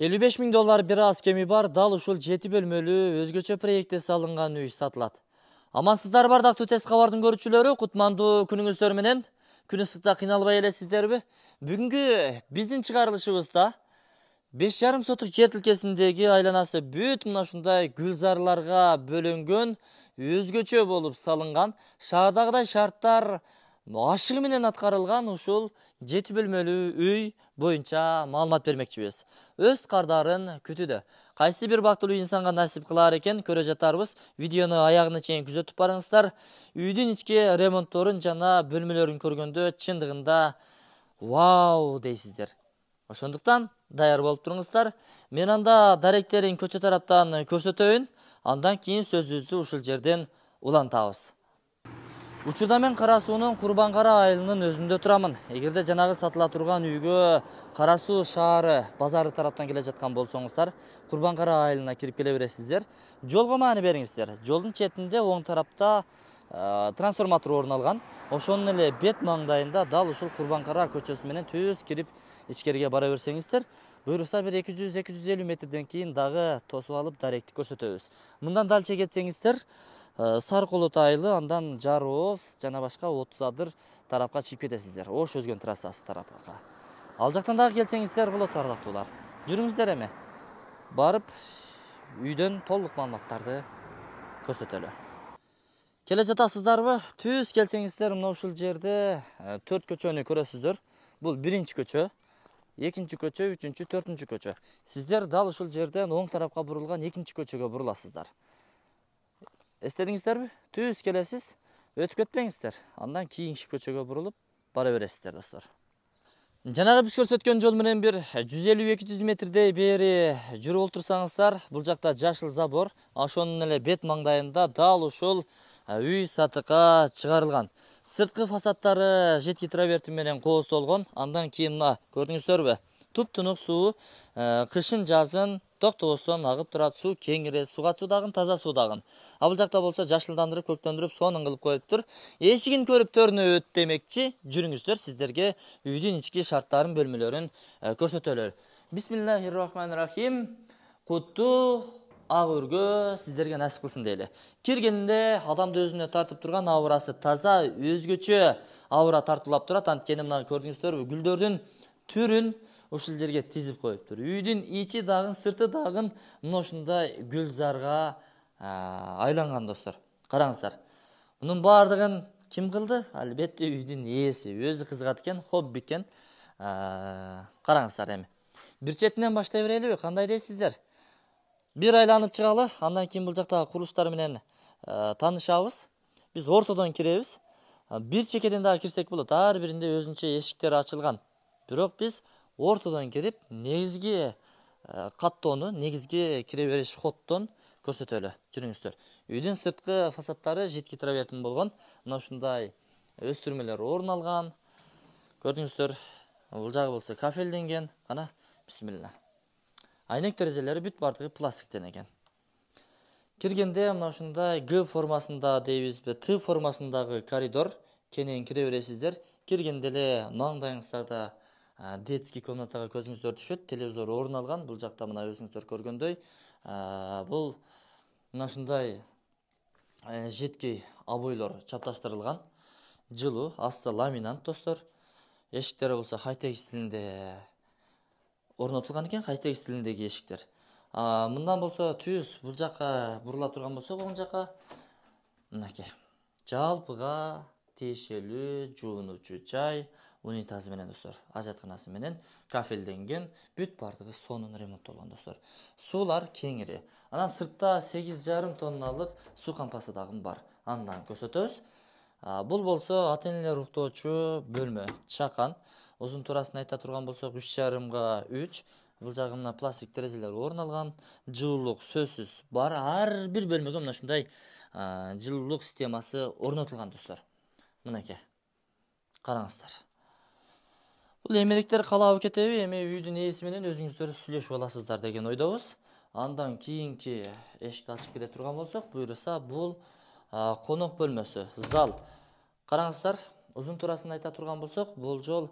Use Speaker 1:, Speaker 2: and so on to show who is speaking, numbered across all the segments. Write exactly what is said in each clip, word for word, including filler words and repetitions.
Speaker 1: элүү беш миң доллар бир аз кеми бар дал ушул жети бөлмөлүү өзгөчө проектте салынган үй сатылат. Амансыздар бардактуу тез кабардын көрүүчүлөрү, кутмандуу күнүңүздөр менен. Күн ысыкта кыйналбай элесиздерби? Бүгүнкү биздин чыгарылышыбызда беш жарым сотук жер тилкесиндеги айланасы бүт мына ушундай гүлзарларга бөлөнгөн, өзгөчө болуп салынган, шаардагыдай шарттар ашыгы менен аткарылган ушул жети бөлмөлүү үй боюнча маалымат бермекчибиз. Өз кардарын күтүүдө. Кайсы бир бактылуу инсанга насип кылаар экен, көрө жатарбыз. Видеону аягына чейин күзөтүп барыңыздар. Үйдүн ички ремонтторун жана бөлмөлөрүн көргөндө чындыгында вау дейсиздер. Ошондуктан даяр болуп туруңуздар. Мен анда даректерин көчө тараптан көрсөтөйүн. Андан кийин сөзүбүздү ушул жерден улантабыз. Учурда мен Кара суунун Курбан Кара айылынын өзүндө турамын. Эгерде жанагы сатыла турган үйгө Кара суу шаары базары тараптан келе жаткан болсоңуздар, Курбан Кара айылына кирип келе бересиздер. Жолго маани бериңиздер. Жолдун четинде оң тарапта трансформатор орун алган. Ошонун эле бет маңдайында дал ушул Курбан Кара көчөсү менен түз кирип ичкериге бара берсеңиздер, буюрса бир эки жүз эки жүз элүү метрден кийин дагы тосуп алып даректи көрсөтөбүз. Мындан далче кетсеңиздер, Сары Колот айылы, андан Жарооз жана башка отуз адыр тарапка чыгып кетесиздер. Ош өзгөн трассасы тарапка. Ал жактан дагы келсеңиздер болот ардактуулар. Жүрүңүздөр эми. Барып үйдөн толук маалыматтарды көрсөтөлү. Келе жатасыздарбы? Түз келсеңиздер мына ушул жерде төрт көчөнү көрөсүздөр. Бул биринчи көчө, экинчи көчө, үчүнчү, төртүнчү көчө. Сиздер дал ушул жерден оң тарапка бурулган экинчи көчөгө буруласыздар. Эстедиңиздерби? Түз келесиз, өтүп кетпеңиздер. Андан кийинки көчөгө бурулуп бара бересиздер, достор. Жанагы биз көрсөткөн жол менен бир жүз элүү эки жүз метрдей бери жүрүп олтурсаңыздар, бул жакта жашыл забор, ошонун эле бет маңдайында дал ушул үй сатыкка чыгарылган. Сырткы фасадтары жетки траверти менен кооздолгон. Андан кийин мына көрдүңүздөрбү? Туп-тунук суу кышын жазын токтобостон агып турат. Суу кеңири, суга чыдаган, таза суу дагы. А бул жакта болсо жашылдандырып, көктөндүрүп, сонун кылып коюптур. Эшигин көрүп төрүнөбөт демекчи. Жүрүңүздөр, сиздерге үйдүн ички шарттарын, бөлмөлөрүн көрсөтөлөр. Бисмиллахир-рахманир-рахим. Куттуу ак өргө сиздерге насип кылсын дейли. Киргенде адамды өзүнө тартып турган абырасы таза, өзгөчө абыра тартуулап турат. Анткени мына көрдүңүздөрбү, гүлдөрдүн түрүн ушул жерге тизип коюптур. Үйдүн ичи дагы, сырты дагы мына ушундай гүлзарга айланган, достор. Караңыздар. Мунун баардыгын ким кылды? Албетте үйдүн ээси. Өзү кызыгат экен, хобби экен. Караңыздар эми. Бир четинен баштай берелиби? Кандай дейсиздер? Бир айланып чыгалы, андан кийин бул жактагы курулуштар менен таанышабыз. Биз ортодон киребиз. Бир чекеден дагы кирсек болот. Ар биринде өзүнчө эшиктер ачылган. Бирок биз ортодон кирип, негизги каттоону, негизги кире бериш хоттон көрсөтөлү. Жүрүңүздөр. Үйдүн сырткы фасадтары жетки травертин болгон. Мына ушундай өстүрмөлөр орун алган. Көрдүңүздөр. Бул жагы болсо кафелденген. Кана, бисмилла. Айнек терезелери бүт бардыгы пластиктен экен. Киргенде мына ушундай Г формасында дейбизби, Т формасындагы коридор. Кенен кире бересиздер. Киргенде эле маңдайыңыздарда детский комнатага көзүңүздөр түшөт. Телевизор орун алган. Бул жакта мына өзүңүздөр көргөндөй, бул мына ушундай жетки обойлор чапташтырылган. Жылуу, асты ламинат, достор. Эшиктери болсо хай-тек стилинде орнотулган экен, хай-тек стилиндеги эшиктер. Мындан болсо түз бул жака бурула турган болсо, бул жака мынакей. Жалпыга тиешелүү жуунуучу жай, унитазы менен, достор, ажатканасы менен кафелденген, бүт бардыгы сонун ремонттолгон, достор. Суулар кеңири. Анан сыртта сегиз жарым тонналык суу кампасы дагы бар. Андан көрсөтөбүз. Бул болсо ата-энелер уктоочу бөлмө, чакан. Узун туурасын айта турган болсок, үч жарымга үч. Бул жагы мына пластик терезелер орун алган. Жылуулук сөзсүз бар. Ар бир бөлмөгө мына ушундай жылуулук системасы орнотулган, достор. Мынакей. Караңыздар. Бул эмеректер калабы кетеби? Эми үйдүн ээси менен өзүңүздөр сүйлөшүп аласыздар деген ойдобуз. Андан кийинки эшикти ачып кире турган болсок, буюрса бул конок бөлмөсү, зал. Караңыздар, узун туурасын айта турган болсок, бул жол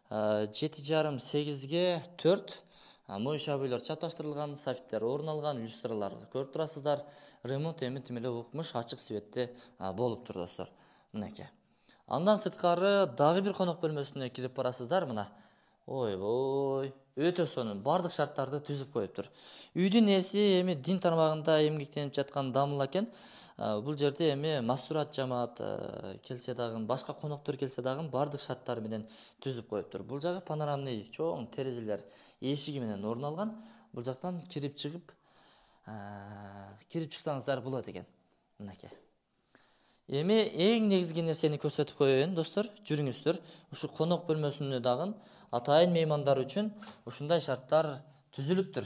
Speaker 1: жети жарым сегизге төрт. Моюшабыйлар чапташтырылган, софиттер орун алган, люстралар көрүп турасыздар. Ремонт эми тим эле укмуш, ачык светте болуп тур достор. Мынакей. Андан сырткары дагы бир конок бөлмөсүнө кирип барасыздар. Мына. Ой-бой, өтө сонун, бардык шарттарды түзүп коюптур. Үйдүн ээси эми дин тармагында эмгектенип жаткан Дамыл экен. Бул жерде эми мастурат жамаат келсе дагы, башка коноктор келсе дагы бардык шарттар менен түзүп коюптур. Бул жагы панорамный чоң терезелер эшиги менен орун алган. Бул жактан кирип чыгып, кирип чыксаңыздар болот экен. Мынакей. Эми эң негизги нерсени көрсөтүп коеюн достор, жүрүңүздөр. Ушу конок бөлмөсүнө дагы атайын меймандар үчүн ушундай шарттар түзүлүптүр.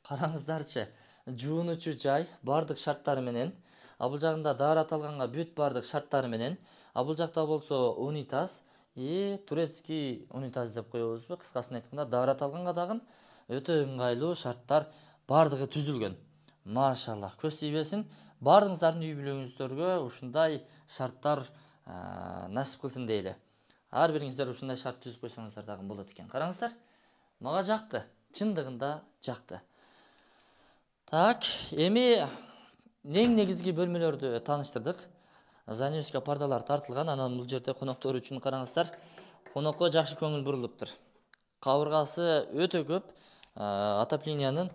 Speaker 1: Караңыздарчы, жуунучу жай бардык шарттары менен, а бул жагында даарат алганга бүт бардык шарттары менен, а бул жакта болсо унитаз, и турецкий унитаз деп коебузбу, кыскасын айтканда даарат алганга дагы өтө ыңгайлуу шарттар бардыгы түзүлгөн. Машалла, көз тийбесин. Бардыгыңыздардын үй бүлөңүздөргө ушундай шарттар насип кылсын дейли. Ар бириңиздер ушундай шарт түзүп койсоңуздар дагы болот экен. Караңыздар. Мага жакты. Чындыгында жакты. Так, эми эң негизги бөлмөлөрдү тааныштырдык. Занавеска пардалар тартылган, анан бул жерде коноктор үчүн караңыздар. Конокко жакшы көңүл бурулуптур. Кабыргасы өтө көп, отопленияның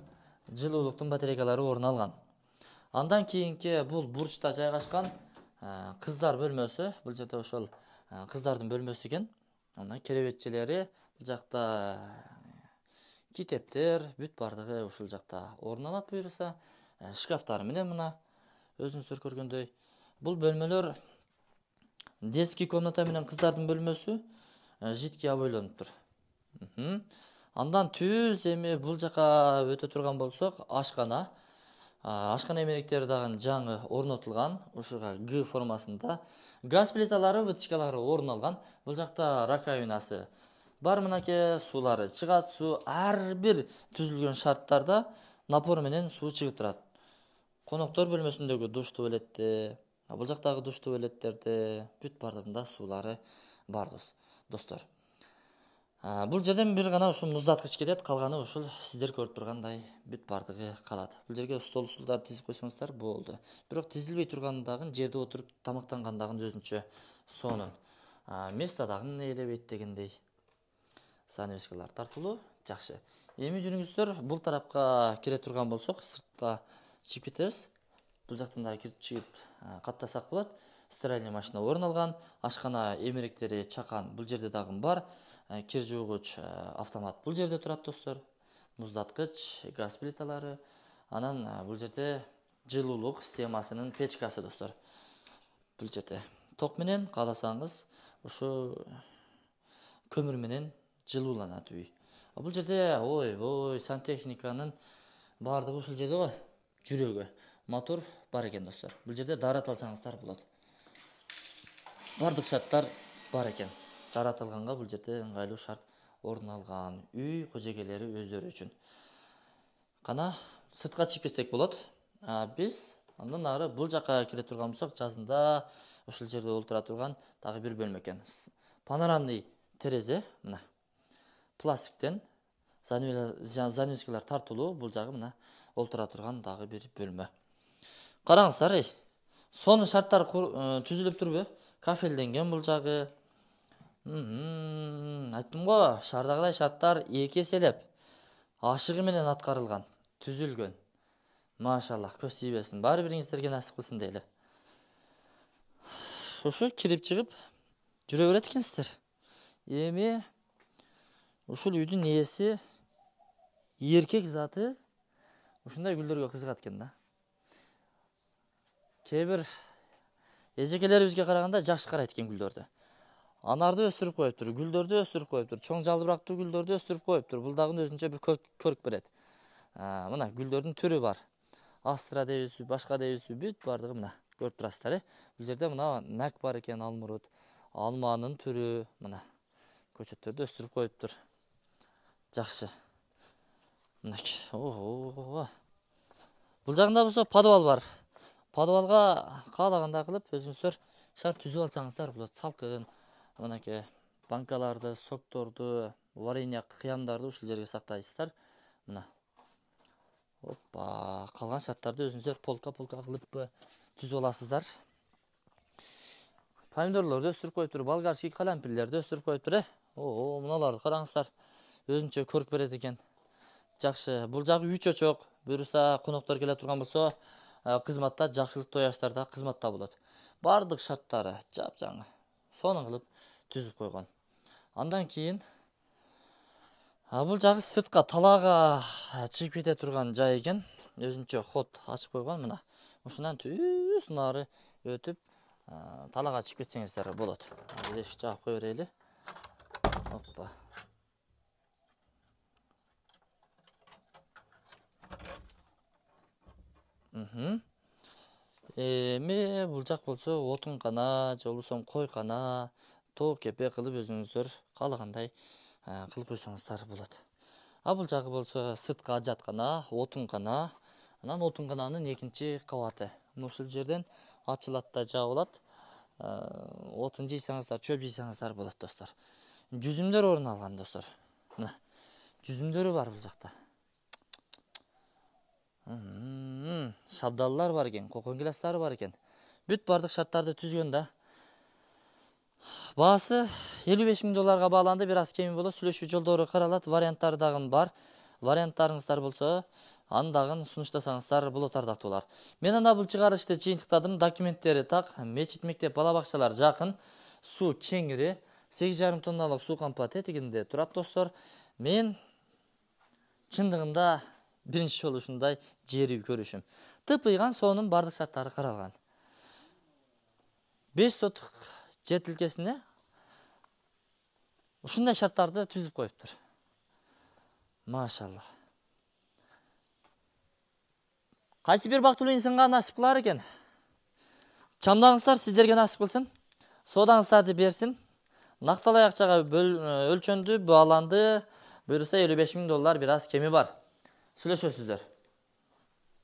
Speaker 1: жылуулуктун батарейкалары орун алган. Андан кийинки бул бурчта жайгашкан кыздар бөлмөсү. Бул жерде ошол кыздардын бөлмөсү экен. Мына керебетчелери, бул жакта китептер, бүт бардыгы ушул жакта орун алат буюрса. Шкафтары менен мына өзүңүздөр көргөндөй. Бул бөлмөлөр детский комната менен кыздардын бөлмөсү житки aboйлонуптур. Андан түз эми бул жака өтө турган болсок, ашкана. Ашкана эмеректери дагы жаңы орнотулган, ушуга Г формасында. Газ плиталары, вытяжкалары орун алган. Бул жакта раковинасы бар, мынакей суулары чыгат. Суу ар бир түзүлгөн шарттарда напор менен суу чыгып турат. Коноктор бөлмөсүндөгү душ туалетте, бул жактагы душ туалеттерде бүт бардыгында суулары бар достор. Бул жерден бир гана ушул муздаткыч кетет, калганы ушул сиздер көрүп тургандай бүт бардыгы калат. Бул жерге стол устулдар тизип койсоңуздар болду. Бирок тизилбей турган дагы жерде отуруп тамактанган дагы өзүнчө сонун. Место дагы ээлебейт дегендей. Занавескалар тартылуу, жакшы. Эми жүрүңүздөр, бул тарапка кире турган болсок, сыртта чыгып кетебиз. Бул жактан да кирип чыгып каттасак болот. Стиральный машина орун алган, ашкана эмеректери чакан бул жерде дагы бар. Кир жуугуч автомат бул жерде турат достор. Муздаткыч, газ плиталары, анан бул жерде жылуулук системасынын печкасы достор. Бул жерде ток менен кааласаңыз ушу көмүр менен жылууланат үй. Бул жерде ой-ой сантехниканын бардыгы ушул жерде го, жүрөгү, мотор бар экен достор. Бул жерде даарат алсаңыздар болот. Бардык шарттар бар экен. Даарат алганга бул жерде ыңгайлуу шарт орун алган. Үй кожогейлери өздөрү үчүн. Кана сыртка чыгып кетсек болот. Биз андан ары бул жака кире турган болсок, жазында ушул жерде олтура турган дагы бир бөлмө экен. Панорамный терезе, мына. Пластиктен занавескалар тартылуу, бул жагы мына олтура турган дагы бир бөлмө. Караңыздар, сонун шарттар түзүлүп турбу? Кафелденген бул жагы. Айттым го, шаардагыдай шарттар эки эселеп ашыгы менен аткарылган, түзүлгөн. Машалла, көз тийбесин. Баары бириңиздерге насип кылсын дейли. Ушу кирип чыгып жүрө берет экенсиздер. Эми ушул үйдүн ээси эркек заты ушундай гүлдөргө кызыгат экен да. Кээ бир эжекелерибизге караганда жакшы карайт экен гүлдөрдү. Анарды өстүрүп коюптур, гүлдөрдү өстүрүп коюптур, чоң жалбырактуу гүлдөрдү өстүрүп коюптур. Бул дагы өзүнчө бир көрк берет. Мына гүлдөрдүн түрү бар. Астра дейбизби, башка дейбизби, бүт бардыгы мына көрүп турасыздар, э. Бул жерде мына нак бар экен, алмурут, алманын түрү, мына көчөттөрдү өстүрүп коюптур. Жакшы. Мынакей. Ого. Бул жагында болсо подвал бар. Подвалга каалагандай кылып өзүңүздөр шарт түзүп алсаңыздар болот. Салкын, мынакей банкаларды, сокторду, варенье кыямдарды ушул жерге сактайсыздар. Мына. Опа, калган шарттарды өзүңүздөр полка-полка кылып түзүп аласыздар. Помидорлорду өстүрүп коюптур, болгарский калампирлерди өстүрүп коюптур, э. О, мыналарды караңыздар. Өзүнчө көрк берет экен. Жакшы. Бул жагы үй чочок. Буюрса коноктор келе турган болсо, кызматта жакшылык тояштарда кызматта болот. Бардык шарттары жап-жаңы. Сонун кылып түзүп койгон. Андан кийин бул жагы сыртка талаага чыгып кете турган жай экен. Өзүнчө ход ачып койгон мына. Ушундан түз нары өтүп талаага чыгып кетсеңиздер болот. Эшик жаап кое берели. Оппа. Мхм. Эми бул жак болсо отун кана, же болбосо кой кана, тоо кепе кылып өзүңүздөр каалагандай кылып койсоңуздар болот. А бул жагы болсо сырткы ажаткана, отун кана, анан отун кананын экинчи кабаты. Ушул жерден ачылат да жабылат. Отун жыйсаңыздар, чөп жыйсаңыздар болот, достор. Жүзүмдөр орун алган, достор. Мына, жүзүмдөрү бар бул жакта. Шабдаллар бар экен, кокон гиластары бар экен. Бүт бардык шарттарды түзгөн да. Баасы элүү беш миң долларга бааланды, бир аз кеми болот. Сүйлөшүү жолдору каралат, варианттары дагы бар. Варианттарыңыздар болсо, аны дагы сунуштасаңыздар болот, ардактуулар. Мен анда бул чыгарышты жыйынтыктадым. Документтери так, мечит, мектеп, бала бакчалар жакын, суу кеңири, сегиз жарым тонналык суу кампа тетигинде турат, достор. Мен чындыгында биринчи жолу ушундай жери көрүшүм. Тыпыйган соонун бардык шарттары каралган. беш сотук жер тилкесине ушундай шарттарды түзүп коюптур. Машалла. Кайсы бир бактылуу инсанга насип кылар экен? Чамдаңыздар сиздерге насип кылсын. Соодаңыздарды берсин. Накталай акчага өлчөндү, бааланды. Буюрса элүү беш миң доллар бир аз кеми бар. Сүйлөшөсүздөр.